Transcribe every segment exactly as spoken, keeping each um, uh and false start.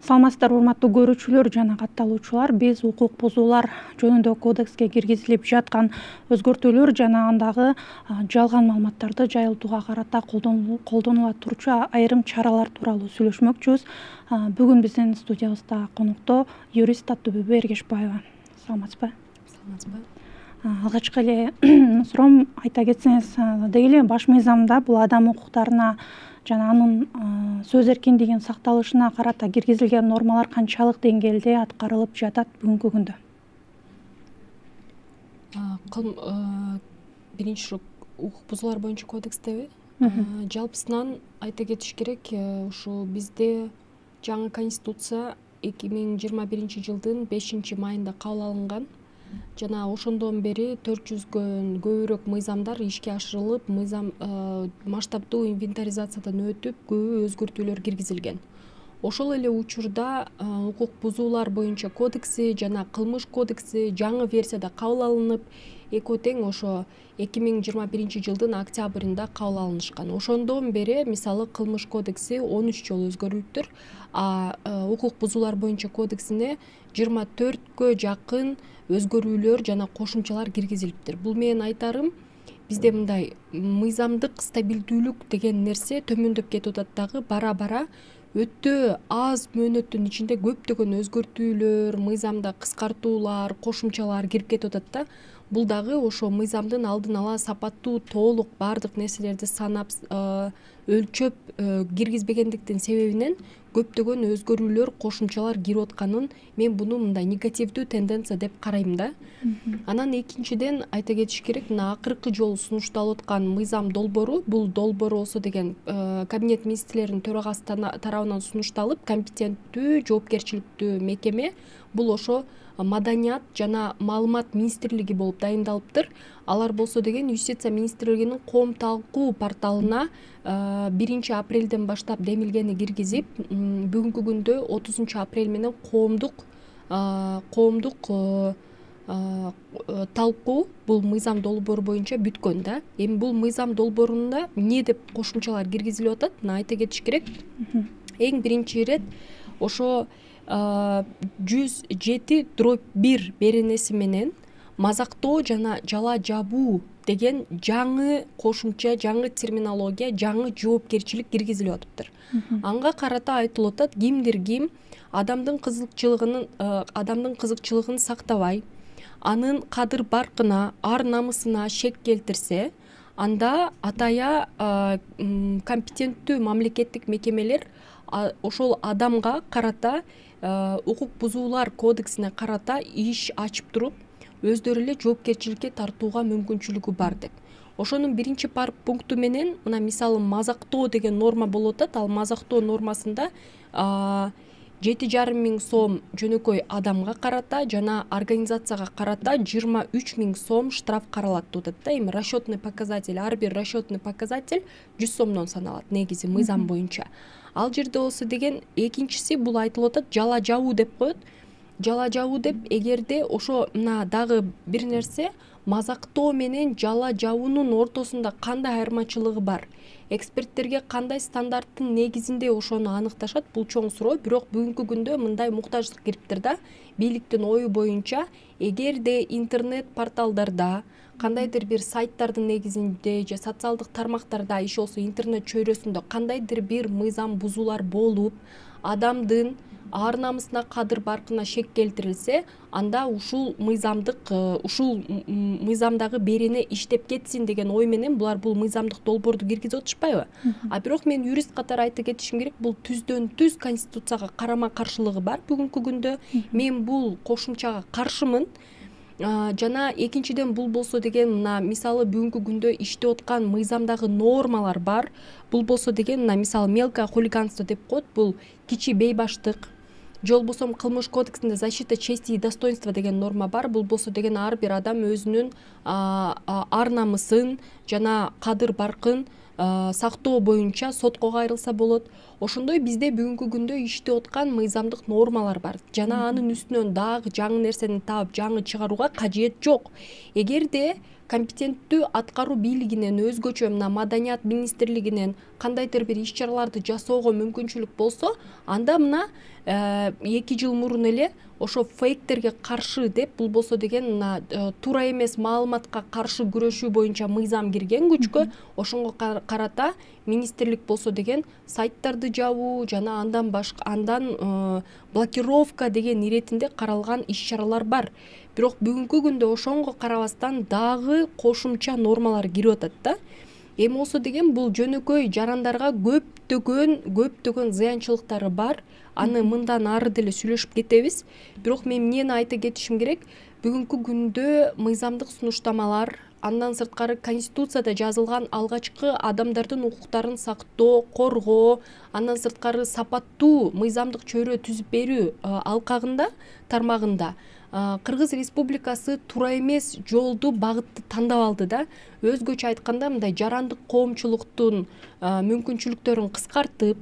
Саламатсыздарбы урматтуу көрүүчүлөр жана катталуучулар. Биз укук бузуулар жөнүндө кодекске киргизилип жаткан өзгөртүүлөр жана андагы жалган маалыматтарды жайылтууга карата колдонула турчу айрым чаралар тууралуу сүйлөшмөкчүбүз. Бүгүн биздин студиябызда конокто юрист Аттүбү Эргешбаева. Саламатсызбы? Саламатсызбы? Алгачкы эле суроом айта кетсеңиз, деги эле баш мыйзамда бул адам укуктарына жана анын сөз эркиндигинин сакталышына карата киргизилген нормалар канчалык деңгээлде аткарылып жатат бүгүнкү күндө? Биринчи укук бузуулар боюнча кодекстеби? Жалпысынан айта кетиш керек, ушу бизде жаңы конституция эки миң жыйырма биринчи жылдын бешинчи майында кабыл алынган жана ошондон бери төрт жүзгөн көбүрөөк мыйзамдар ишке ашырылып, мыйзам масштабдуу инвентаризациядан өтүп, көп өзгөртүүлөр киргизилген. Ошол эле учурда укук бузуулар боюнча кодекси жана кылмыш кодекси жаңы версияда кабыл алынып, экөө тең ошо эки миң жыйырма биринчи жылдын октябрында кабыл алынышкан. Ошондон бери мисалы кылмыш кодекси он үч жолу өзгөрүлүптүр, а укук бузуулар боюнча кодексине жыйырма төрткө жакын өзгөрүүлөр жана кошумчалар киргизилиптир. Бул менен айтарым, бизде мындай мыйзамдык стабилдүүлүк деген нерсе төмөндөп кетип атат дагы бара-бара. Өтө аз мөөнөттүн ичинде көптөгөн өзгөртүүлөр, мыйзамда кыскартуулар, кошумчалар кирип кетип атат да. Бул дагы ошо мыйзамдын алдын ала сапаттуу, толук баардык нерселерди санап, өлчөп киргизбегендиктин себебинен көптөгөн өзгөрүүлөр, кошумчалар кирип атканын мен буну мындай негативдүү тенденция деп карайм да. Анан экинчиден айта кетиш керек, мына акыркы жолу сунушталып аткан мыйзам долбоору, бул долбоор болсо деген Кабинет министрлеринин төрагасы тарабынан сунушталып, компетенттүү, жоопкерчиликтүү мекеме бул ошо Маданият жана маалымат министрлиги болуп дайындалыптыр. Алар болсо деген Юстиция министрлигинин коом талкуу порталына биринчи апрелден баштап демилгени киргизип, бүгүнкү күндө отузунчу апрель менен коомдук коомдук талкуу бул мыйзам долбоору боюнча бүткөн да. Эми бул мыйзам долбоорунда эмне деп кошумчалар киргизилип атат? Мына айта кетиш керек. Эң биринчи ирет ошо жүз жети дробь бир беренеси менен мазактоо жана жала жабуу деген жаңы кошумча, жаңы терминология, жаңы жоопкерчилик киргизилип атыптыр. Анга карата айтылып атат, кимдир ким адамдын кызыкчылыгынын адамдын кызыкчылыгын сактабай, анын кадыр баркына, ар намысына шек келтирсе, анда атая компетенттүү мамлекеттик мекемелер ошол адамга карата укук бузуулар кодексине карата иш ачып туруп, өздөрү эле жоопкерчиликке тартууга мүмкүнчүлүгү бар деп. Ошонун биринчи пункту менен мына мисалы мазактоо деген норма болуп атат. Ал мазактоо нормасында жети жарым миң сом жөнөкөй адамга карата жана организацияга карата жыйырма үч миң сом штраф каралат деп атат да. Эми расчетный показатель, ар бир расчетный показатель жүз сомдон саналат негизи мыйзам боюнча. Ал жерде болсо деген экинчиси бул айтылып атат, жала жабуу деп коет. Жала жабуу деп эгерде ошо мына дагы бир нерсе, мазактоо менен жала жабуунун ортосунда кандай айырмачылыгы бар? Эксперттерге кандай стандарттын негизинде ошону аныкташат? Бул чоң суроо, бирок бүгүнкү күндө мындай муктаждык кириптир да. Бийликтин ою боюнча, эгерде интернет порталдарда, кандайдыр бир сайттардын негизинде же социалдык тармактарда, иш болсо интернет чөйрөсүндө кандайдыр бир мыйзам бузуулар болуп, адамдын ар намысына, кадыр баркына шек келтирилсе, анда ушул мыйзамдык ушул мыйзамдагы берене иштеп кетсин деген ой менен булар бул мыйзамдык долбоорду киргизип атышпайбы? А бирок мен юрист катары айта кетишим керек, бул түздөн түз конституцияга карама каршылыгы бар бүгүнкү күндө. Мен бул кошумчага каршымын. Жана экинчиден бул болсо деген мына мисалы бүгүнкү күндө иштеп аткан мыйзамдагы нормалар бар. Бул болсо деген мына мисалы мелкое хулиганство деп коет, бул кичи бейбаштык. Же болбосо кылмыш кодексинде защита чести и достоинства деген норма бар. Бул болсо деген ар бир адам өзүнүн ар намысын жана кадыр баркын сактоо боюнча сотко кайрылса болот. Ошондой бизде бүгүнкү күндө иштеп аткан мыйзамдык нормалар бар. Жана анын үстүнөн дагы жаңы нерсени таап, жаңы чыгарууга кажет жок. Эгерде компетенттүү аткаруу бийлигинен өзгөчө мына маданият министрлигинен кандайдыр бир иш чараларды жасоого мүмкүнчүлүк болсо, анда мына эки жыл мурун эле ошо фейктерге каршы деп, бул болсо деген мына туура эмес маалыматка каршы күрөшүү боюнча мыйзам кирген күчкө, ошонго карата министрлик болсо деген сайттарды жабуу жана андан башка андан блокировка деген иретинде каралган иш чаралар бар. Бирок бүгүнкү күндө ошонго карабастан дагы кошумча нормалар кирип атат да. Эми болсо деген бул жөнөкөй жарандарга көптөгөн көптөгөн зыянчылыктары бар. Аны мындан ары деле сүйлөшүп кетебиз. Бирок мен эмнени айта кетишим керек? Бүгүнкү күндө мыйзамдык сунуштамалар, андан сырткары Конституцияда жазылган алгачкы адамдардын укуктарын сактоо, коргоо, андан сырткары сапаттуу мыйзамдык чөйрө түзүп берүү алкагында, тармагында Кыргыз Республикасы туура эмес жолду, багытты тандап алды да. Өзгөчө айтканда, мындай жарандык коомчулуктун мүмкүнчүлүктөрүн кыскартып,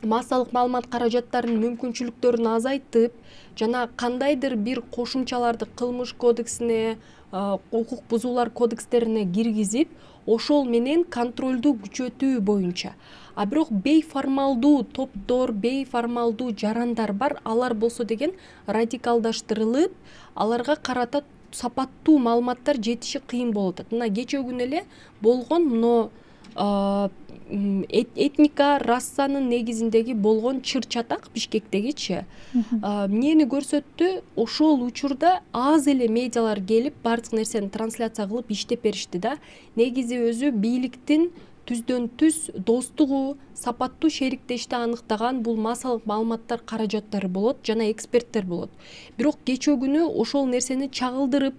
массалык маалымат каражаттарынын мүмкүнчүлүктөрүн азайтып, жана кандайдыр бир кошумчаларды кылмыш кодексине, укук бузуулар кодекстерине киргизип, ошол менен контролду күчөтүү боюнча. А бирок бейформалдуу топтор, бейформалдуу жарандар бар. Алар болсо деген радикалдаштырылып, аларга карата сапаттуу маалыматтар жетиши кыйын болуп атат. Мына кечээ күнү эле болгон мына этника, расанын негизиндеги болгон чыр-чатак Бишкектегичи эмнени көрсөттү? Ошол учурда аз эле медиалар келип, бардык нерсени трансляция кылып иштеп беришти да. Негизи өзү бийликтин түздөн түз достугу, сапаттуу шериктешти аныктаган бул массалык маалыматтар каражаттары болот жана эксперттер болот. Бирок кечээ күнү ошол нерсени чагылдырып,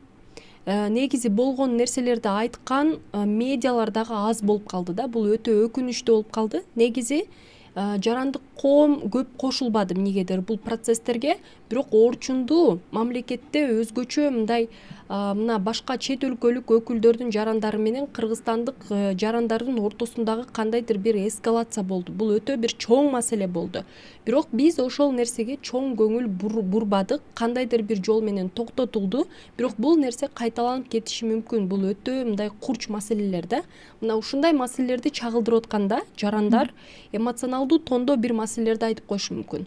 негизи болгон нерселерди айткан медиалар дагы аз болуп калды да. Бул өтө өкүнүчтүү болуп калды. Негизи жарандык коом көп кошулбады эмнегедир бул процесстерге. Бирок орчундуу мамлекетте өзгөчө мындай мына башка чет өлкөлүк өкүлдөрдүн жарандары менен кыргызстандык жарандардын ортосундагы кандайдыр бир эскалация болду. Бул өтө бир чоң маселе болду. Бирок биз ошол нерсеге чоң көңүл бурбадык, кандайдыр бир жол менен токтотулду. Бирок бул нерсе кайталанып кетиши мүмкүн. Бул өтө мындай курч маселелер да. Мына ушундай маселелерди чагылдырып атканда жарандар эмоционалдуу тондо бир маселелерди айтып коюшу мүмкүн.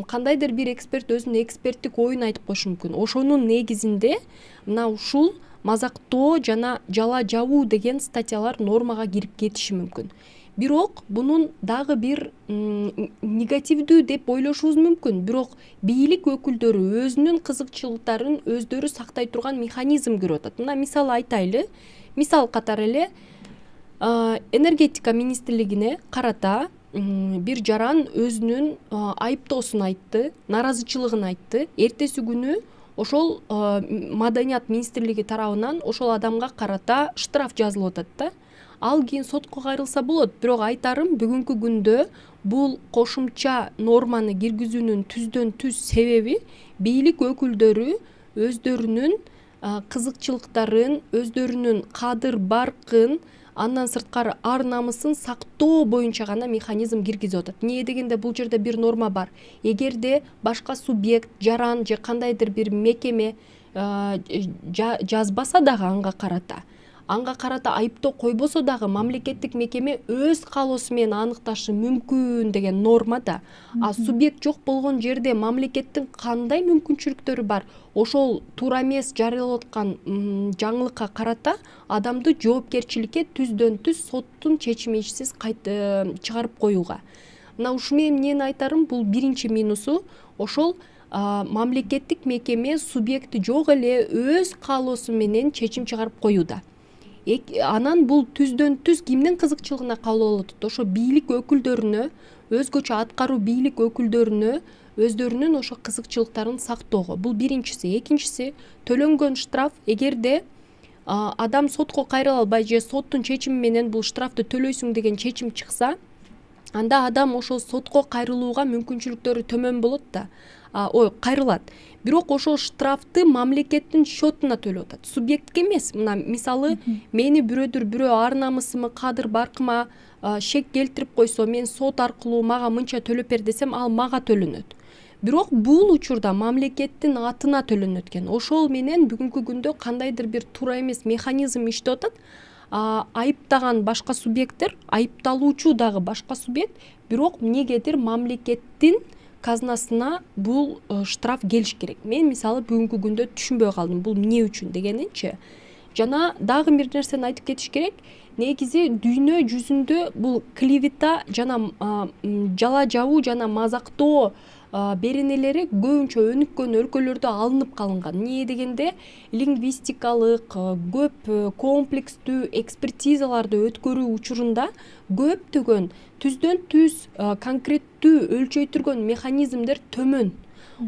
Кандайдыр бир эксперт өзүнүн эксперттик оюн айтып коюшу мүмкүн. Ошонун негизинде мына ушул мазактоо жана жала жабуу деген статьялар нормага кирип кетиши мүмкүн. Бирок бунун дагы бир негативдүү деп ойлошубуз мүмкүн. Бирок бийлик өкүлдөрү өзүнүн кызыкчылыктарын өздөрү сактай турган механизм көрүп атат. Мына мисал айтайлы. Мисал катары эле энергетика министрлигине карата бир жаран өзүнүн айыптоосун айтты, наразычылыгын айтты. Эртеси күнү ошол маданият министрлиги тарабынан ошол адамга карата штраф жазылып атат да. Ал кийин сотко кайрылса болот. Бирок айтарым, бүгүнкү күндө бул кошумча норманы киргизүүнүн түздөн түз себеби бийлик өкүлдөрү өздөрүнүн кызыкчылыктарын, өздөрүнүн кадыр баркын, андан сырткары ар намысын сактоо боюнча гана механизм киргизип атат. Эмне дегенде бул жерде бир норма бар. Эгерде башка субъект, жаран же кандайдыр бир мекеме жазбаса дагы анга карата, анга карата айыптоо койбосо дагы мамлекеттик мекеме өз каалоосу менен аныкташы мүмкүн деген норма да. А субъект жок болгон жерде мамлекеттин кандай мүмкүнчүлүктөрү бар? Ошол туура эмес жарыялап аткан жаңылыкка карата адамды жоопкерчиликке түздөн түз соттун чечимисиз чыгарып коюуга. Мына ушу менен эмнени айтарым? Бул биринчи минусу. Ошол мамлекеттик мекеме субъекти жок эле өз каалоосу менен чечим чыгарып коюуда. Анан бул түздөн түз кимдин кызыкчылыгына кабыл болуп атат? Ошо бийлик өкүлдөрүнө, өзгөчө аткаруу бийлик өкүлдөрүнө өздөрүнүн ошо кызыкчылыктарын сактоого. Бул биринчиси. Экинчиси, төлөнгөн штраф эгерде адам сотко кайрыла албай же соттун чечими менен бул штрафты төлөйсүң деген чечим чыкса, анда адам ошол сотко кайрылууга мүмкүнчүлүктөрү төмөн болот да. Ой, кайрылат. Бирок ошол штрафты мамлекеттин счетуна төлөп атат. Субъектке эмес. Мына мисалы, мени бирөөдүр бирөө ар намысыма, кадыр баркыма шек келтирип койсо, мен сот аркылуу мага мынча төлөп бер десем, ал мага төлөнөт. бирок бул учурда мамлекеттин атына төлөнөт экен. Ошол менен бүгүнкү күндө кандайдыр бир туура эмес механизм иштеп атат. Айыптаган башка субъекттер, айыпталуучу дагы башка субъект, бирок эмнегедир мамлекеттин казнасына бул штраф келиш керек. Мен мисалы бүгүнкү күндө түшүнбөй калдым, бул эмне үчүн дегенинчи. Жана дагы бир нерсени айтып кетиш керек. Негизи дүйнө жүзүндө бул клевета жана жала жабуу жана мазактоо беренелери көбүнчө өнүккөн өлкөлөрдө алынып калынган. Эмне дегенде лингвистикалык көп комплекстүү экспертизаларды өткөрүү учурунда көптөгөн түздөн түз конкреттүү өлчөйтүргөн механизмдер төмөн.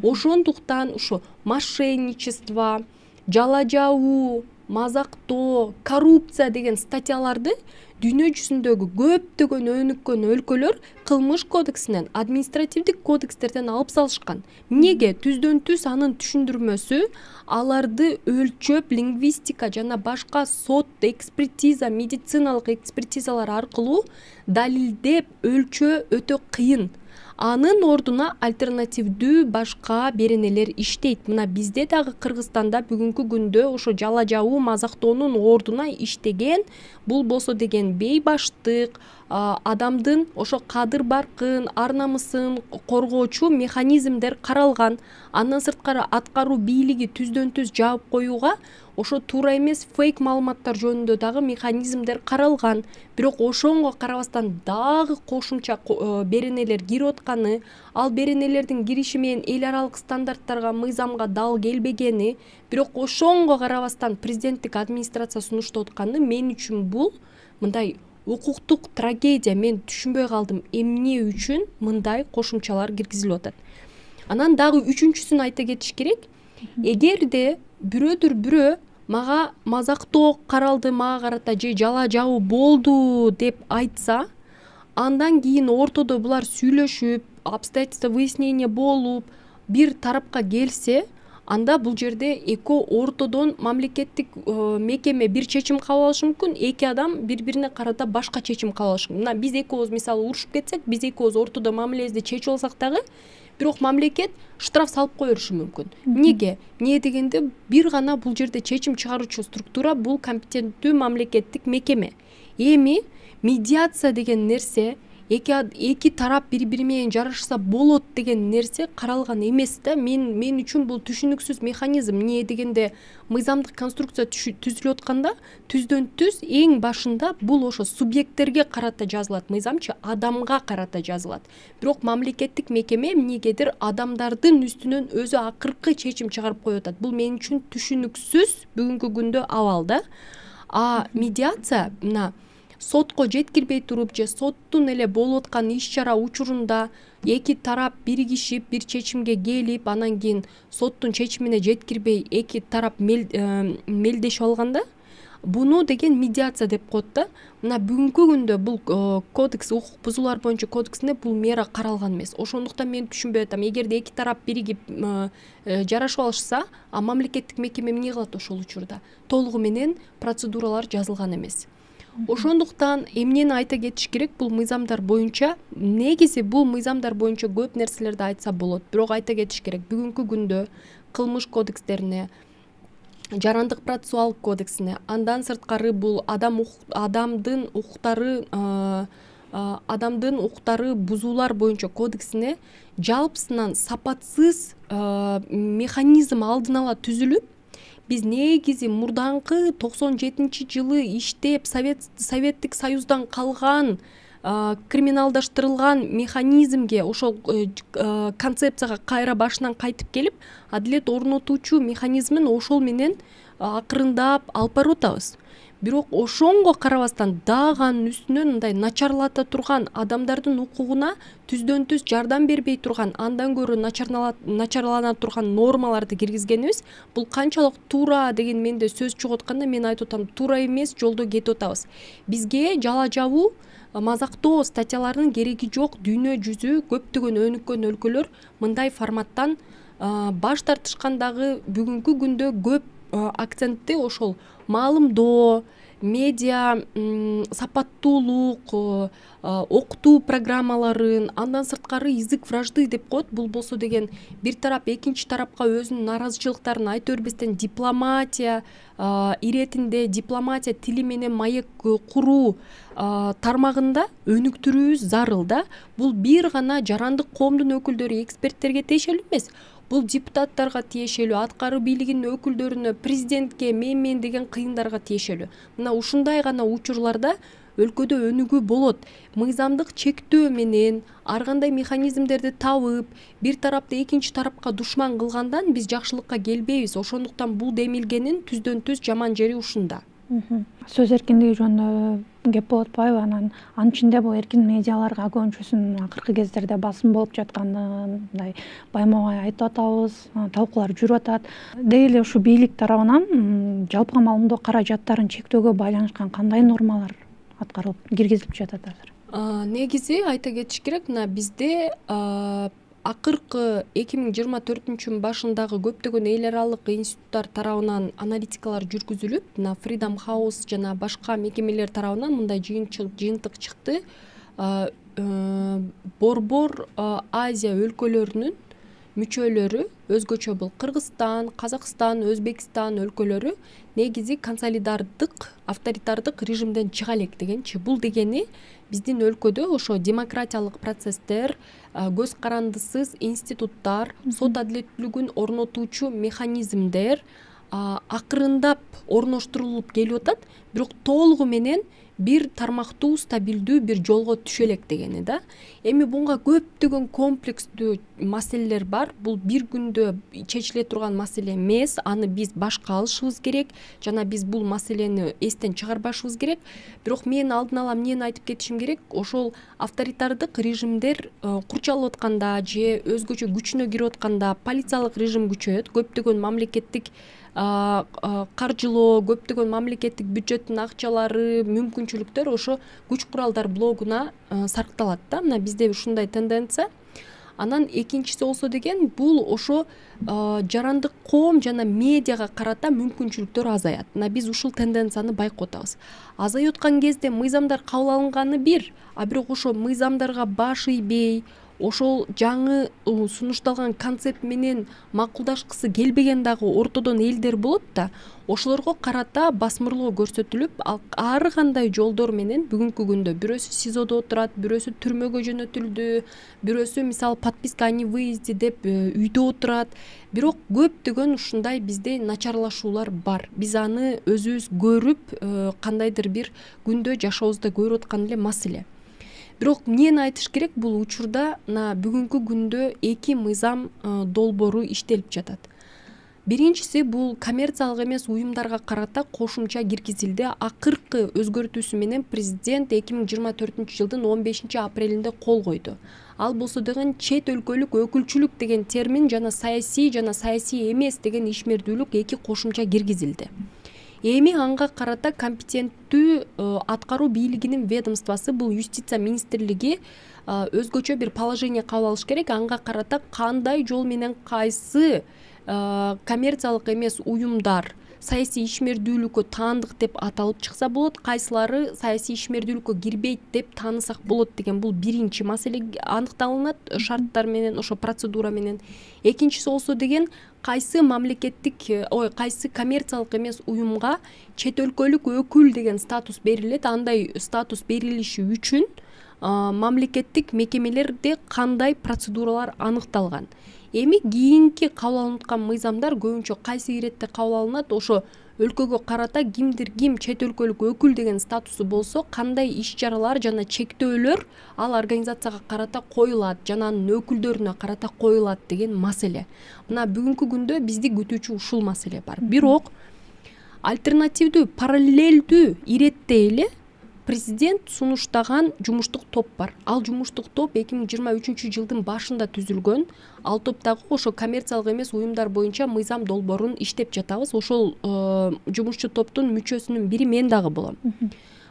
Ошондуктан ушу мошенничество, жала жабуу, мазактоо, коррупция деген статьяларды дүйнө жүзүндөгү көптөгөн өнүккөн өлкөлөр кылмыш кодексинен, административдик кодекстерден алып салышкан. Эмнеге? Түздөн түз анын түшүндүрмөсү аларды өлчөп, лингвистика жана башка сот, экспертиза, медициналык экспертизалар аркылуу далилдеп өлчөө өтө кыйын. Анын ордуна альтернативдүү башка беренелер иштейт. Мына бизде дагы Кыргызстанда бүгүнкү күндө ошо жала жабуу, мазактоонун ордуна иштеген бул болсо деген бейбаштык, адамдын ошо кадыр баркын, ар намысын коргоочу механизмдер каралган. Андан сырткары аткаруу бийлиги түздөн түз жаап коюуга ошо туура эмес фейк маалыматтар жөнүндө дагы механизмдер каралган. Бирок ошонго карабастан дагы кошумча беренелер кирип атканы, ал беренелердин кириши менен эл аралык стандарттарга, мыйзамга дал келбегени, бирок ошонго карабастан президенттик администрация сунуштап атканы мен үчүн бул мындай укуктук трагедия. Мен түшүнбөй калдым эмне үчүн мындай кошумчалар киргизилип атат. Анан дагы үчүнчүсүн айта кетиш керек. Эгерде бирөөдүр бирөө мага мазактоо каралды, мага карата же жала жабуу болду деп айтса, андан кийин ортодо булар сүйлөшүп, обстоятельства выяснения болуп, бир тарапка келсе, анда бул жерде эки ортодон мамлекеттик мекеме бир чечим кабыл алышы мүмкүн, эки адам бири-бирине карата башка чечим кабыл алышы мүмкүн. Мына биз экөөбүз мисалы урушуп кетсек, биз экөөбүз ортодо мамилебизди чечип алсак дагы, бирок мамлекет штраф салып кое бериши мүмкүн. Эмнеге? Эмне дегенде бир гана бул жерде чечим чыгаруучу структура бул компетенттүү мамлекеттик мекеме. Эми медиация деген нерсе, эки эки тарап бири-бири менен жарашса болот деген нерсе каралган эмес да. Мен мен үчүн бул түшүнүксүз механизм. Эмне дегенде мыйзамдык конструкция түзүлүп атканда түздөн түз эң башында бул ошо субъекттерге карата жазылат, мыйзамчы адамга карата жазылат. Бирок мамлекеттик мекеме эмнегедир адамдардын үстүнөн өзү акыркы чечим чыгарып коюп атат. Бул мен үчүн түшүнүксүз бүгүнкү күндө абал да. А медиация мына сотко жеткирбей туруп же соттун эле болуп аткан иш-чара учурунда эки тарап биригишип бир чечимге келип, анан кийин соттун чечимине жеткирбей эки тарап мелдешип алганда, буну деген медиация деп коет да. Мына бүгүнкү күндө бул кодекс, укук бузуулар боюнча кодексинде бул мера каралган эмес. Ошондуктан мен түшүнбөй атам. Эгерде эки тарап биригип жарашып алышса, а мамлекеттик мекеме эмне кылат ошол учурда? Толугу менен процедуралар жазылган эмес. Ошондуктан эмнени айта кетиш керек, бул мыйзамдар боюнча, негизи бул мыйзамдар боюнча көп нерселерди айтса болот. Бирок айта кетиш керек, бүгүнкү күндө кылмыш кодекстерине, жарандык процессуалдык кодексине, андан сырткары бул адам адамдын укуктары адамдын укуктары бузуулар боюнча кодексине жалпысынан сапатсыз механизм алдын ала түзүлүп, биз негизи мурдаңкы токсон жетинчи жылы иштеп совет советтик союздан калган криминалдаштырылган механизмге, ошол концепцияга кайра башынан кайтып келип, адилет орнотуучу механизмин ошол менен акырындап алып барып атабыз. Бирок ошонго карабастан дагы анын үстүнөн мындай начарлата турган, адамдардын укугуна түздөн түз жардам бербей турган, андан көрө начарлана турган нормаларды киргизгенибиз, бул канчалык туура деген менде сөз чыгып атканда мен айтып атам, туура эмес жолдо кетип атабыз. Бизге жала жабуу, мазактоо статьяларынын кереги жок. Дүйнө жүзү көптөгөн өнүккөн өлкөлөр мындай форматтан баш тартышкан, дагы бүгүнкү күндө көп акцентти ошол маалымдоо, медиа сапаттуулук, окутуу программаларын, андан сырткары язык вражды деп коет. Бул болсо деген бир тарап экинчи тарапка өзүнүн нааразычылыктарын айта бербестен дипломатия иретинде, дипломатия тили менен маек куруу тармагында өнүктүрүүбүз зарыл да. Бул бир гана жарандык коомдун өкүлдөрү, эксперттерге тиешелүү эмес. Бул депутаттарга тиешелүү, аткаруу бийлигинин өкүлдөрүнө, президентке, мен мен деген кыйындарга тиешелүү. Мына ушундай гана учурларда өлкөдө өнүгүү болот. Мыйзамдык чектөө менен ар кандай механизмдерди табып, бир тарапты экинчи тарапка душман кылгандан биз жакшылыкка келбейбиз. Ошондуктан бул демилгенин түздөн түз жаман жери ушунда. Сөз эркиндиги жөнүндө кеп болуп атпайбы? Анан анын ичинде бул эркин медиаларга көбүнчөсүнүн акыркы кездерде басым болуп жатканын мындай байма-бай айтып атабыз, талкуулар жүрүп атат. Деги эле ушу бийлик тарабынан жалпыга маалымдоо каражаттарын чектөөгө байланышкан кандай нормалар аткарылып, киргизилип жатат азыр? Негизи айта кетиш керек, мына бизде акыркы эки миң жыйырма төртүнчү жылдын башындагы көптөгөн эл аралык институттар тарабынан аналитикалар жүргүзүлүп, мына Freedom House жана башка мекемелер тарабынан мындай жыйынтык чыкты. Борбор Азия өлкөлөрүнүн мүчөлөрү, өзгөчө бул Кыргызстан, Казакстан, Өзбекстан өлкөлөрү негизи консолидардык, авторитардык режимден чыга элек дегенчи. Бул дегени биздин өлкөдө ошо демократиялык процесстер, көз карандысыз институттар, сот адилеттүүлүгүн орнотуучу механизмдер акырындап орноштурулуп келип атат, бирок толугу менен бир тармактуу, стабилдүү бир жолго түшө элек дегени да. Эми буга көптөгөн комплекстүү маселелер бар. Бул бир күндө чечиле турган маселе эмес. Аны биз башка алышыбыз керек жана биз бул маселени эстен чыгарбашыбыз керек. Бирок мен алдын ала эмнени айтып кетишим керек? Ошол авторитардык режимдер курчалып атканда же өзгөчө күчүнө кирип атканда полициялык режим күчөйөт. Көптөгөн мамлекеттик каржылоо, көптөгөн мамлекеттик бюджеттин акчалары, мүмкүнчүлүктөр ошо күч куралдар блогуна саркталат да. Мына бизде ушундай тенденция. Анан экинчиси болсо деген бул ошо жарандык коом жана медиага карата мүмкүнчүлүктөр азаят. Мына биз ушул тенденцияны байкап атабыз. Азайып аткан кезде мыйзамдар кабыл алынганы бир, а бирок ошо мыйзамдарга баш ийбей, ошол жаңы сунушталган концепт менен макулдашкысы келбеген дагы ортодон элдер болот да. Ошолорго карата басмырлоо көрсөтүлүп, ар кандай жолдор менен бүгүнкү күндө бирөөсү СИЗОдо отурат, бирөөсү түрмөгө жөнөтүлдү, бирөөсү мисалы подписка о невыезде деп үйдө отурат. Бирок көптөгөн ушундай бизде начарлашуулар бар. Биз аны өзүбүз көрүп, кандайдыр бир күндө жашообузда көрүп аткан эле маселе. Бирок эмнени айтыш керек, бул учурда мына бүгүнкү күндө эки мыйзам долбоору иштелип жатат. Биринчиси бул коммерциялык эмес уюмдарга карата кошумча киргизилди. Акыркы өзгөртүүсү менен президент эки миң жыйырма төртүнчү жылдын он бешинчи апрелинде кол койду. Ал болсо деген чет өлкөлүк өкүлчүлүк деген термин жана саясий жана саясий эмес деген ишмердүүлүк эки кошумча киргизилди. Эми анга карата компетенттүү аткаруу бийлигинин ведомствосы, бул юстиция министрлиги өзгөчө бир положение кабыл алыш керек. Анга карата кандай жол менен кайсы коммерциялык эмес уюмдар саясий ишмердүүлүккө таандык деп аталып чыкса болот, кайсылары саясий ишмердүүлүккө кирбейт деп таанысак болот деген бул биринчи маселе аныкталынат шарттар менен, ошо процедура менен. Экинчиси болсо деген кайсы мамлекеттик, ой, кайсы коммерциялык эмес уюмга чет өлкөлүк өкүл деген статус берилет. Андай статус берилиши үчүн мамлекеттик мекемелерде кандай процедуралар аныкталган. Эми кийинки кабыл алынып аткан мыйзамдар көбүнчө кайсы иретте кабыл алынат? Ошо өлкөгө карата кимдир ким чет өлкөлүк өкүл деген статусу болсо, кандай иш-чаралар жана чектөөлөр ал организацияга карата коюлат жана анын өкүлдөрүнө карата коюлат деген маселе. Мына бүгүнкү күндө бизди күтүүчү ушул маселе бар. Бирок альтернативдүү, параллелдүү иретте эле президент сунуштаган жумуштук топ бар. Ал жумуштук топ эки миң жыйырма үчүнчү жылдын башында түзүлгөн. Ал топтогу ошо коммерциялык эмес уюмдар боюнча мыйзам долбоорун иштеп жатабыз. Ошол жумушчу топтун мүчөсүнүн бири мен дагы болом.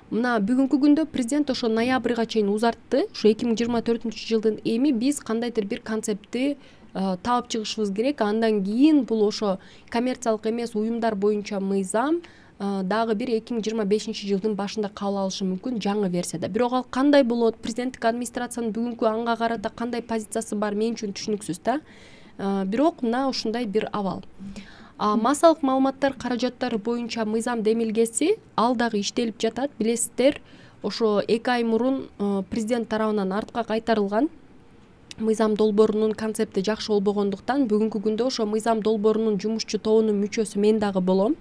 Мына бүгүнкү күндө президент ошо ноябрга чейин узартты. Ошо эки миң жыйырма төртүнчү жылдын эми биз кандайдыр бир концептти таап чыгышыбыз керек. Андан кийин бул ошо коммерциялык эмес уюмдар боюнча мыйзам дагы бир эки миң жыйырма бешинчи жылдын башында кабыл алышы мүмкүн жаңы версияда. Бирок ал кандай болот, президенттик администрациянын бүгүнкү анга карата кандай позициясы бар, мен үчүн түшүнүксүз да. Бирок мына ушундай бир абал. Массалык маалыматтар каражаттары боюнча мыйзам демилгеси ал дагы иштелип жатат. Билесиздер, ошо эки ай мурун президент тарабынан артка кайтарылган мыйзам долбоорунун концепти жакшы болбогондуктан бүгүнкү күндө ошо мыйзам долбоорунун жумушчу тобунун мүчөсү мен дагы болом.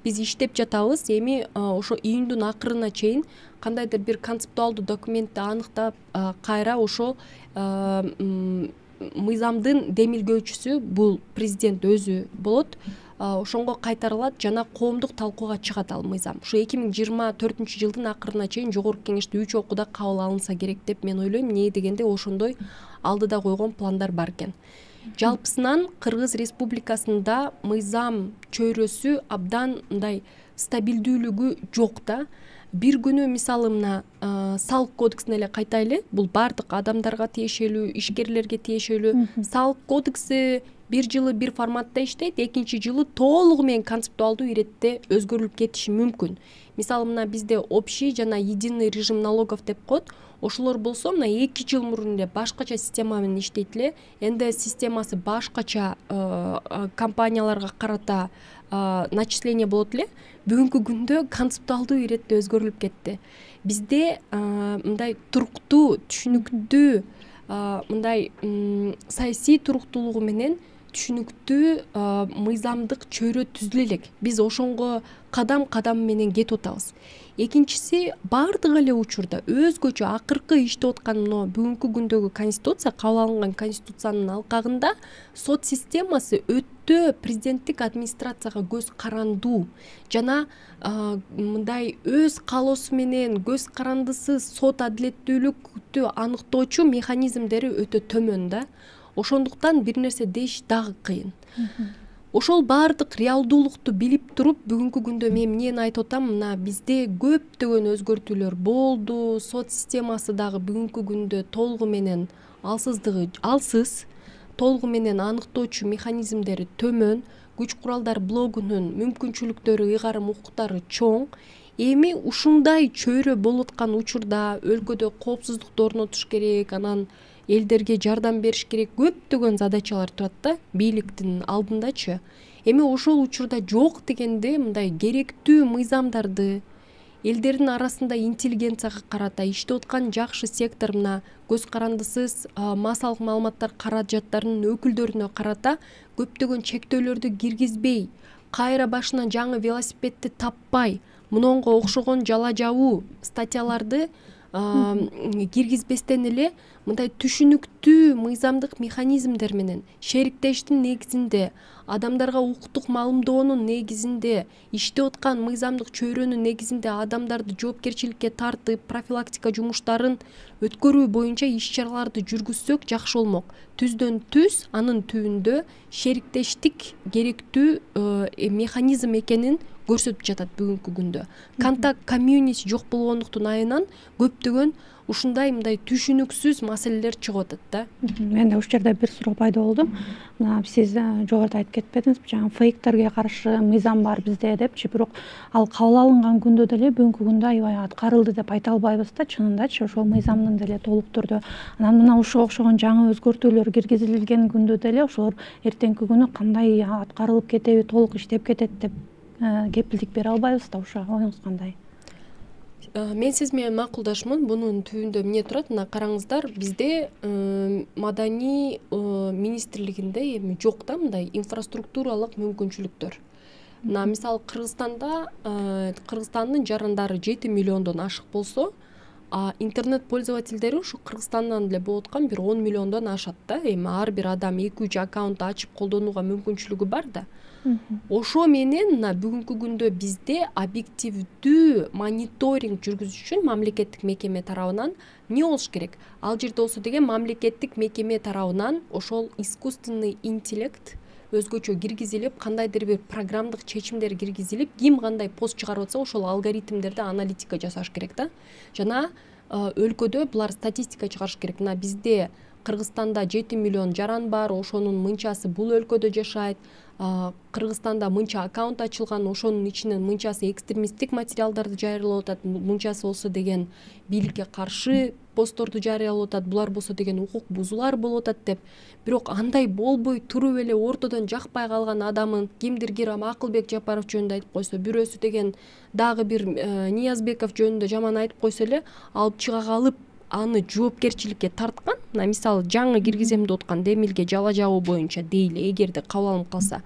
Биз иштеп жатабыз. Эми ошо июндун акырына чейин кандайдыр бир концептуалдуу документти аныктап, кайра ошо мыйзамдын демилгөөчүсү бул президент өзү болот. Ошонго кайтарылат жана коомдук талкууга чыгат ал мыйзам. Ушу эки миң жыйырма төртүнчү жылдын акырына чейин жогорку кеңеште үч окууда кабыл алынса керек деп мен ойлойм. Эмне дегенде ошондой алдыда койгон пландар бар экен. Жалпысынан Кыргыз Республикасында мыйзам чөйрөсү абдан мындай стабилдүүлүгү жок да. Бир күнү мисалы мына салык кодексине эле кайтайлы. Бул бардык адамдарга тиешелүү, ишкерлерге тиешелүү. Салык кодекси бир жылы бир форматта иштейт, экинчи жылы толугу менен концептуалдуу иретте өзгөрүлүп кетиши мүмкүн. Мисалы мына бизде общий жана единый режим налогов деп коет. Ошолор болсо мына эки жыл мурун эле башкача система менен иштейт эле. эн дэ эс системасы башкача компанияларга карата начисление болот эле. Бүгүнкү күндө концептуалдуу иретте өзгөрүлүп кетти. Бизде мындай туруктуу, түшүнүктүү, мындай саясий туруктуулугу менен түшүнүктүү мыйзамдык чөйрө түзүлө элек. Биз ошонго кадам кадам менен кетип атабыз. Экинчиси, бардык эле учурда өзгөчө акыркы иштеп аткан мына бүгүнкү күндөгү конституция, кабыл алынган конституциянын алкагында сот системасы өтө президенттик администрацияга көз карандуу жана мындай өз каалоосу менен көз карандысыз сот адилеттүүлүктү аныктоочу механизмдери өтө төмөн да. Ошондуктан бир нерсе деш дагы кыйын. Ошол бардык реалдуулукту билип туруп, бүгүнкү күндө мен эмнени айтып атам, мына бизде көптөгөн өзгөртүүлөр болду. Сот системасы дагы бүгүнкү күндө толугу менен алсыздыгы алсыз, толугу менен аныктоочу механизмдери төмөн, күч куралдар блогунун мүмкүнчүлүктөрү, ыйгарым укуктары чоң. Эми ушундай чөйрө болуп аткан учурда өлкөдө коопсуздукту орнотуш керек, анан элдерге жардам бериш керек, көптөгөн задачалар турат да бийликтин алдындачы. Эми ошол учурда жок дегенде мындай керектүү мыйзамдарды элдердин арасында интеллигенцияга карата иштеп аткан жакшы сектор мына көз карандысыз массалык маалыматтар каражаттарынын өкүлдөрүнө карата көптөгөн чектөөлөрдү киргизбей, кайра башынан жаңы велосипедди таппай, мунунга окшогон жала жабуу статьяларды киргизбестен эле мындай түшүнүктүү мыйзамдык механизмдер менен шериктештин негизинде, адамдарга укуктук маалымдоонун негизинде, иштеп аткан мыйзамдык чөйрөнүн негизинде адамдарды жоопкерчиликке тартып, профилактика жумуштарын өткөрүү боюнча иш-чараларды жүргүзсөк жакшы болмок. Түздөн түз анын түбүндө шериктештик керектүү механизм экенин көрсөтүп жатат бүгүнкү күндө. Контакт комьюнити жок болгондуктун айынан көптөгөн ушундай мындай түшүнүксүз маселелер чыгып атат да. Менде ушул жерде бир суроо пайда болду. Мына сиз жогоруда айтып кетпедиңизби, жаңы фейктерге каршы мыйзам бар бизде депчи, бирок ал кабыл алынган күндө деле бүгүнкү күндө аябай аткарылды деп айта албайбыз да, чынындачы ошол мыйзамдын деле толук түрдө. Анан мына ушуга окшогон жаңы өзгөртүүлөр киргизилген күндө деле ошолор эртеңки күнү кандай аткарылып кетеби, толук иштеп кетет деп кепилдик бере албайбыз да. Ошо оюңуз кандай? Мен сиз менен макулдашмын. Бунун түбүндө эмне турат? Мына караңыздар, бизде маданий министрлигинде эми жок да мындай инфраструктуралык мүмкүнчүлүктөр. Мына мисалы Кыргызстанда Кыргызстандын жарандары жети миллиондон ашык болсо, а интернет пользовательдери ушу Кыргызстандан эле болуп аткан бир он миллиондон ашат да. Эми ар бир адам эки үч аккаунт ачып колдонууга мүмкүнчүлүгү бар да. Ошо менен мына бүгүнкү күндө бизде объективдүү мониторинг жүргүзүш үчүн мамлекеттик мекеме тарабынан эмне болуш керек? Ал жерде болсо деген мамлекеттик мекеме тарабынан ошол искусственный интеллект өзгөчө киргизилип, кандайдыр бир программдык чечимдер киргизилип, ким кандай пост чыгарып атса, ошол алгоритмдерди аналитика жасаш керек да. Жана өлкөдө булар статистика чыгарыш керек. Мына бизде Кыргызстанда жети миллион жаран бар, ошонун мынчасы бул өлкөдө жашайт. Кыргызстанда мынча аккаунт ачылган, ошонун ичинен мынчасы экстремисттик материалдарды жарыялап атат, мынчасы болсо деген бийликке каршы постторду жарыялап атат, булар болсо деген укук бузуулар болуп атат деп. Бирок андай болбой туруп эле ортодон жакпай калган адамын кимдир Акылбек Жапаров жөнүндө айтып койсо, бирөөсү деген дагы бир Ниязбеков жөнүндө жаман айтып койсо эле алып чыга калып аны жоопкерчиликке тарткан. Мына мисалы жаңы киргизем деп аткан Демилге жала жабуу боюнча дейли, эгерде кабыл алынып калса,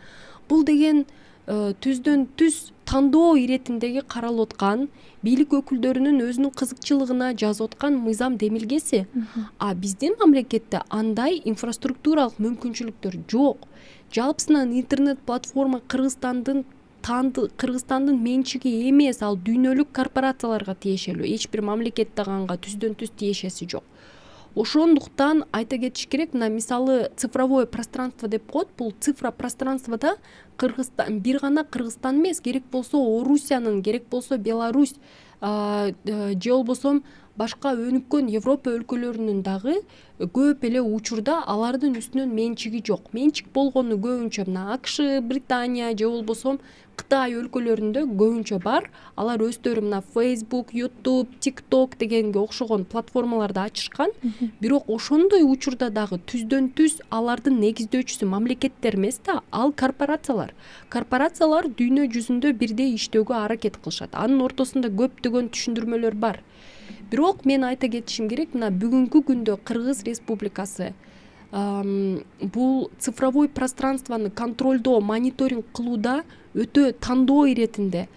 бул деген түздөн түз тандоо иретиндеги каралып аткан бийлик өкүлдөрүнүн өзүнүн кызыкчылыгына жазып аткан мыйзам демилгеси. А биздин мамлекетте андай инфраструктуралык мүмкүнчүлүктөр жок. Жалпысынан интернет платформа Кыргызстандын Кыргызстандын менчиги эмес, ал дүйнөлүк корпорацияларга тиешелүү. Эч бир мамлекетте канга түздөн түз тиешеси жок. Ошондуктан айта кетиш керек, мына мисалы цифровое пространство деп коет. Бул цифра пространствода Кыргызстан бир гана Кыргызстан эмес, керек болсо Орусиянын, керек болсо Беларусь же болбосо башка өнүккөн Европа өлкөлөрүнүн дагы көп эле учурда алардын үстүнөн менчиги жок. Менчик болгону көбүнчө мына АКШ, Британия же болбосо Кытай өлкөлөрүндө көбүнчө бар. Алар өздөрү мына Facebook, YouTube, TikTok дегенге окшогон платформаларды ачышкан. Бирок ошондой учурда дагы түздөн түз алардын негиздөөчүсү мамлекеттер эмес да, ал корпорациялар. Корпорациялар дүйнө жүзүндө бирдей иштөөгө аракет кылышат. Анын ортосунда көптөгөн түшүндүрмөлөр бар. Бирок мен айта кетишим керек, мына бүгүнкү күндө Кыргыз Республикасы бул цифровой пространствону контролдоо, мониторинг кылууда өтө тандоо иретинде,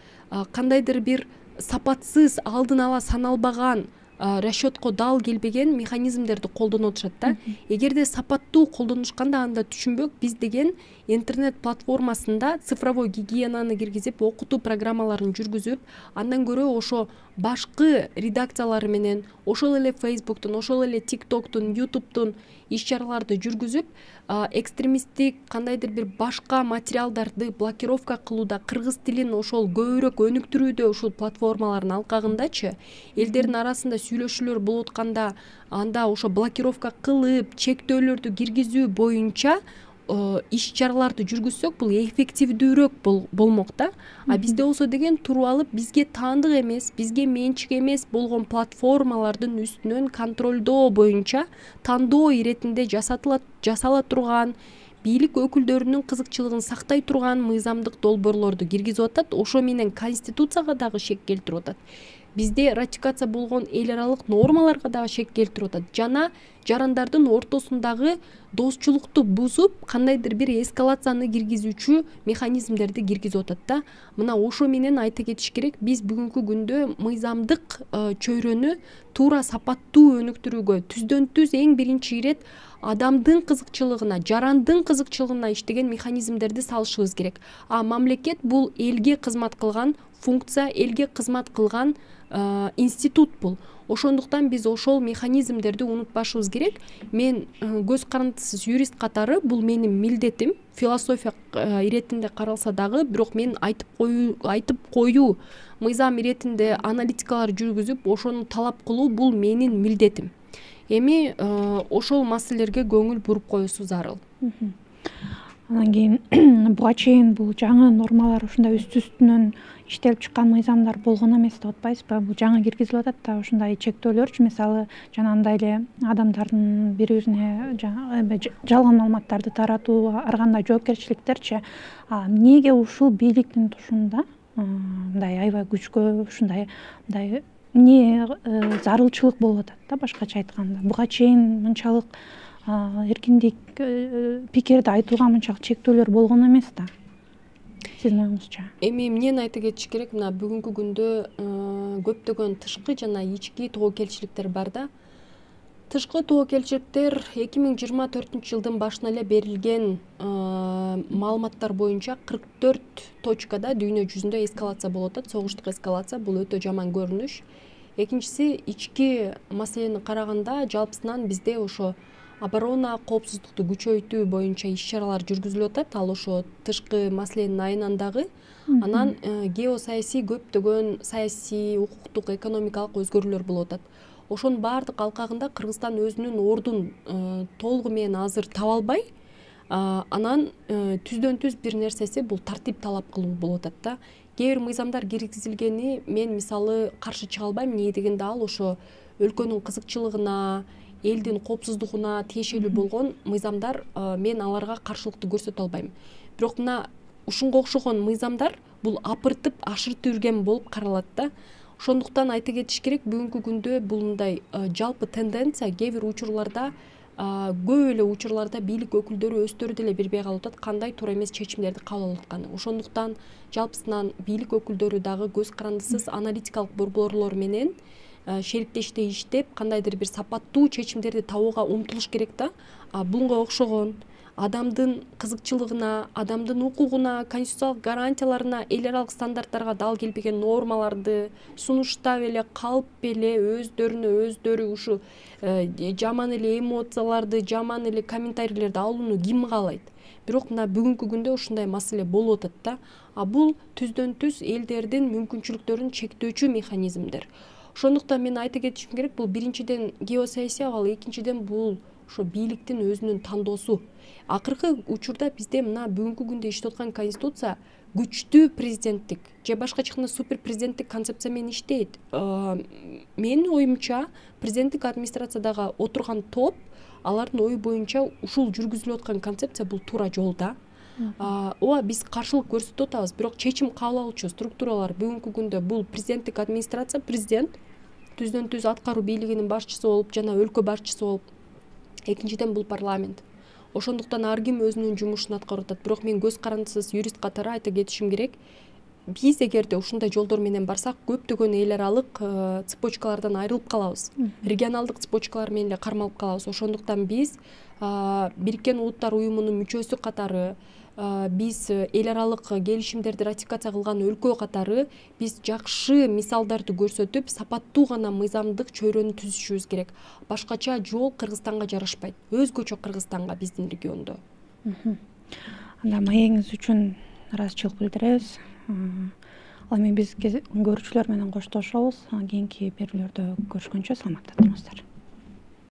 кандайдыр бир сапатсыз, алдын ала саналбаган, расчетко дал келбеген механизмдерди колдонуп атышат да. Эгерде сапаттуу колдонушканда анда түшүнбөк, биз деген интернет платформасында цифровой гигиенаны киргизип, окутуу программаларын жүргүзүп, андан көрө ошо башкы редакциялары менен, ошол эле Facebooктун, ошол эле TikToктун, YouTube'тун иш-чараларды жүргүзүп, экстремисттик кандайдыр бир башка материалдарды блокировка кылууда, кыргыз тилин ошол көбүрөөк өнүктүрүүдө ушул платформалардын алкагындачы элдердин арасында сүйлөшүүлөр болуп атканда анда ошо блокировка кылып, чектөөлөрдү киргизүү боюнча иш-чараларды жүргүзсөк, бул эффективдүүрөөк болмок да. А бизде болсо деген туруп алып, бизге таандык эмес, бизге менчик эмес болгон платформалардын үстүнөн контролдоо боюнча тандоо иретинде жасатыла жасала турган, бийлик өкүлдөрүнүн кызыкчылыгын сактай турган мыйзамдык долбоорлорду киргизип атат. Ошо менен конституцияга дагы шек келтирип атат. Бизде ратификация болгон эл аралык нормаларга дагы шек келтирип атат. Жана жарандардын ортосундагы достчулукту бузуп, кандайдыр бир эскалацияны киргизүүчү механизмдерди киргизип атат да. Мына ошо менен айта кетиш керек, биз бүгүнкү күндө мыйзамдык чөйрөнү туура сапаттуу өнүктүрүүгө түздөн түз эң биринчи ирет адамдын кызыкчылыгына, жарандын кызыкчылыгына иштеген механизмдерди салышыбыз керек. А мамлекет бул элге кызмат кылган функция, элге кызмат кылган институт бул. Ошондуктан биз ошол механизмдерди унутпашыбыз керек. Мен көз карандысыз юрист катары бул менин милдетим. Философия иретинде каралса дагы, бирок мен айтып коюу, айтып коюу, мыйзам иретинде аналитикалар жүргүзүп, ошону талап кылуу бул менин милдетим. Эми ошол маселелерге көңүл буруп коюусу зарыл. Анан кийин буга чейин бул жаңы нормалар ушундай үстү-үстүнөн иштелип чыккан мыйзамдар болгон эмес деп атпайсызбы? Бул жаңы киргизилип атат да, ушундай чектөөлөрчү, мисалы жанагындай эле адамдардын бири-бирине жалган маалыматтарды таратуу, ар кандай жоопкерчиликтерчи. Эмнеге ушул бийликтин тушунда мындай аябай күчкө, ушундай мындай эмне зарылчылык болуп атат да, башкача айтканда? Буга чейин мынчалык эркиндик пикирди айтууга мынчалык чектөөлөр болгон эмес да, сиздин оюңузча? Эми эмнени айта кетиш керек, мына бүгүнкү күндө көптөгөн тышкы жана ички тобокелчиликтер бар да. Тышкы тобокелчиликтер эки миң жыйырма төртүнчү жылдын башына эле берилген маалыматтар боюнча кырк төрт точкада дүйнө жүзүндө эскалация болуп атат, согуштук эскалация. Бул өтө жаман көрүнүш. Экинчиси, ички маселени караганда жалпысынан бизде ошо оборона, коопсуздукту күчөйтүү боюнча иш-чаралар жүргүзүлүп атат. Ал ошо тышкы маселенин айынан дагы. Анан геосаясий көптөгөн саясий, укуктук, экономикалык өзгөрүүлөр болуп атат. ошонун баардык алкагында Кыргызстан өзүнүн ордун толугу менен азыр таба албай, анан түздөн түз бир нерсеси бул тартип талап кылуу болуп атат да. Кээ бир мыйзамдар киргизилгени мен мисалы каршы чыга албайм, эмне дегенде ал ошо өлкөнүн кызыкчылыгына, элдин коопсуздугуна тиешелүү болгон мыйзамдар, мен аларга каршылыктуу көрсөтө албайм. Бирок мына ушунга окшогон мыйзамдар бул апыртып ашыртып жүргөн болуп каралат да. Ошондуктан айта кетиш керек, бүгүнкү күндө бул мындай жалпы тенденция кээ бир учурларда, көп эле учурларда бийлик өкүлдөрү өздөрү деле билбей калып атат кандай туура эмес чечимдерди кабыл алып атканын. Ошондуктан жалпысынан бийлик өкүлдөрү дагы көз карандысыз аналитикалык борборлор менен шериктештей иштеп, кандайдыр бир сапаттуу чечимдерди табууга умтулуш керек да. А буга окшогон адамдын кызыкчылыгына, адамдын укугуна, конституциялык гарантияларына, эл аралык стандарттарга дал келбеген нормаларды сунуштап эле калп эле өздөрүнө өздөрү ушу жаман эле эмоцияларды, жаман эле комментарийлерди алууну ким каалайт? Бирок мына бүгүнкү күндө ушундай маселе болуп атат да. А бул түздөн түз элдердин мүмкүнчүлүктөрүн чектөөчү механизмдер. Ошондуктан мен айта кетишим керек, бул биринчиден геосаясий абал, экинчиден бул ошо бийликтин өзүнүн тандоосу. Акыркы учурда бизде мына бүгүнкү күндө иштеп аткан конституция күчтүү президенттик же башкача айтканда супер президенттик концепция менен иштейт. Менин оюмча, президенттик администрациядагы отурган топ, алардын ою боюнча ушул жүргүзүлүп аткан концепция бул туура жол да. Ооба биз каршылык көрсөтүп атабыз, бирок чечим кабыл алуучу структуралар бүгүнкү күндө бул президенттик администрация, президент түздөн түз аткаруу бийлигинин башчысы болуп жана өлкө башчысы болуп. Экинчиден бул парламент. Ошондуктан ар ким өзүнүн жумушун аткарып атат. Бирок мен көз карандысыз юрист катары айта кетишим керек, биз эгерде ушундай жолдор менен барсак, көптөгөн эл аралык цепочкалардан айрылып калабыз. Регионалдык цепочкалар менен эле кармалып калабыз. Ошондуктан биз Бириккен Улуттар уюмунун мүчөсү катары, биз эл аралык келишимдерди ратификация кылган өлкө катары биз жакшы мисалдарды көрсөтүп, сапаттуу гана мыйзамдык чөйрөнү түзүшүбүз керек. Башкача жол Кыргызстанга жарашпайт. Өзгөчө Кыргызстанга биздин региондо. Анда маегиңиз үчүн ыраазычылык билдиребиз. Ал эми биз көрүүчүлөр менен коштошобуз. Кийинки берүүлөрдө көрүшкөнчө саламатта туруңуздар.